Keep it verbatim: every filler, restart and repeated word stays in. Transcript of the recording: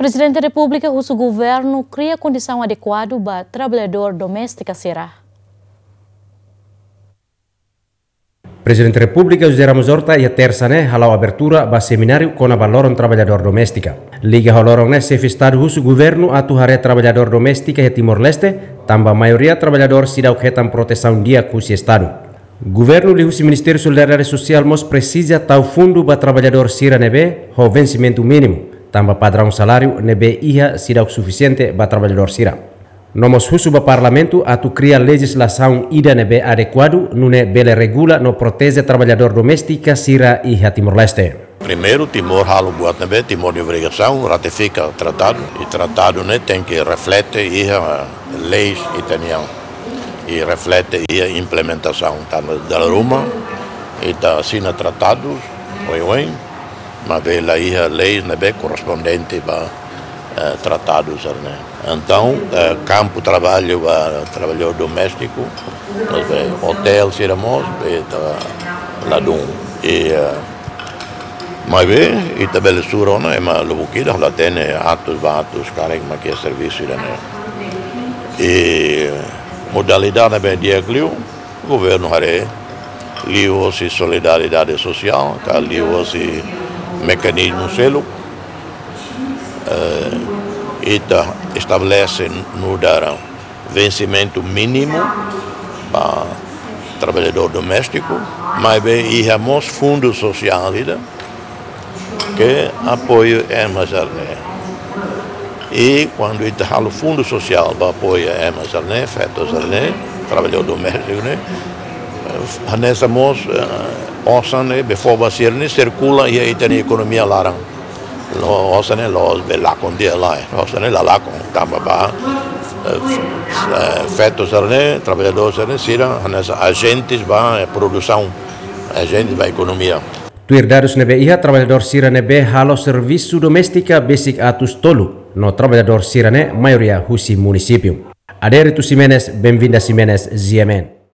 Prezidente Repúblika husu governu kria kondisaun adekuadu ba traballadór doméstika sira. Prezidente Repúblika José Ramos Horta iha tersa ne'e hala'o abertura ba semináriu kona-ba loron traballadór doméstika. Liga ho loron ne'e, xefe Estadu husu governu atu haree traballadór doméstika iha Timor-Leste, tanba maioria traballadór seidauk hetan protesaun di'ak husi Estadu. Governu liuhusi Ministériu Solidariedade Sosiál mós presiza tau fundu ba traballadór sira ne'ebé ho vensimentu mínimu, tanba padraun saláriu ne'ebé iha seidauk sufisiente ba traballadór sira. No mós husu ba Parlamentu atu kria lejizlasaun ida ne'ebé adekuadu, nune'e bele regula no proteje traballadór doméstika sira iha Timor-Leste. Primeiru, Timor halo buat ne'ebé Timor nia obrigasaun, ratifika tratadu, i tratadu ne'e tenke reflete iha leis ita-nian, i reflete iha implementasaun. Tanba dala ruma ita asina tratadus oioin, maibé la iha leis ne'ebé korrespondente ba, eh, tratadu sira-ne'e. Entaun, eh, kampu traballu ba traballadór doméstiku, maibé otél sira mós, be ta ladún. I, eh, maibé ita bele sura ona, ema lubuk ida la hatene atus ba atus karik mak iha servisu ida-ne'e. I modalidade ne'ebé di'ak liu, governu haree, liuhosi solidariedade sosiál, ka liuhosi mekanizmu seluk, eh, ita estabelese nu'udar vensimentu mínimu ba traballadór doméstiku, maibé iha mós fundu sosiál ida ke apoiu ema sira-ne'e. I kuandu ita halo fundu sosiál ba apoiu ema sira-ne'e, feto sira-ne'e, traballadór doméstiku ne'e, eh, hanesan mós, eh, osan ne'ebé fó ba sira-ne'e sirkula iha ita-nia ekonomia laran. Lo, osan ne'e la'ós be lakon di'ak, lae. Osan ne'e la lakon, tanba ba, eh, eh, feto sira-ne'e, traballadór sira-ne'e, sira hanesan ajentes ba, eh, produsaun, ajentes ba ekonomia. Tuir dadus ne'ebé iha, traballadór sira ne'ebé halo servisu doméstika besik atus tolu, no traballadór sira-ne'e maioria husi munisípiu. Adérito Ximenes, Benvinda Ximenes, G M N.